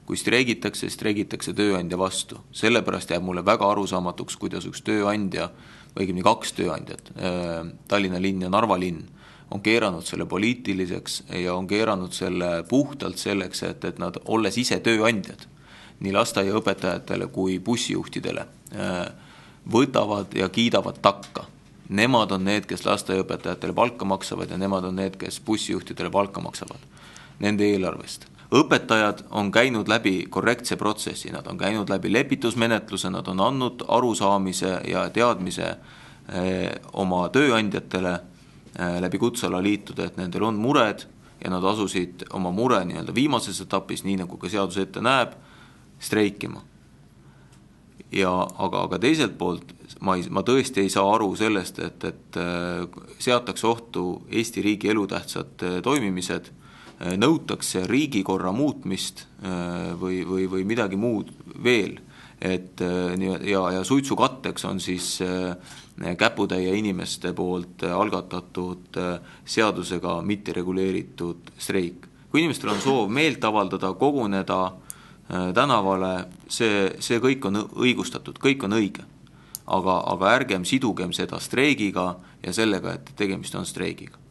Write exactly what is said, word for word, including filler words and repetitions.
kui streigitakse, streigitakse tööandja vastu. Sellepärast jääb mulle väga arusaamatuks, kuidas üks tööandja, või õigemini kaks tööandjat, Tallinna linn ja Narva linn, on keeranud selle poliitiliseks ja on keeranud selle puhtalt selleks, et, et nad, olles ise tööandjad, nii lasteaiaõpetajatele kui bussijuhtidele, võtavad ja kiidavad takka. Nemad on need, kes lasteaiaõpetajatele palka maksavad ja nemad on need, kes bussijuhtidele palka maksavad nende eelarvest. Õpetajad on käinud läbi korrektse protsessi, nad on käinud läbi lepitusmenetluse, nad on andnud arusaamise ja teadmise eh, oma tööandjatele eh, läbi kutsealaliitude, et nendel on mured ja nad asusid oma mure nii-öelda viimases etapis, nii nagu ka seadus ette näeb, streikima. Ja, aga, aga teiselt poolt ma, ei, ma tõesti ei saa aru sellest, et, et seatakse ohtu Eesti riigi elutähtsad toimimised, nõutakse riigikorra muutmist või, või, või midagi muud veel. Et, ja, ja suitsukatteks on siis käputäie inimeste poolt algatatud seadusega mitte reguleeritud streik. Kui inimestel on soov meelt avaldada, koguneda tänavale, see, see kõik on õigustatud, kõik on õige. Aga, aga ärgem sidugem seda streigiga ja sellega, et tegemist on streigiga.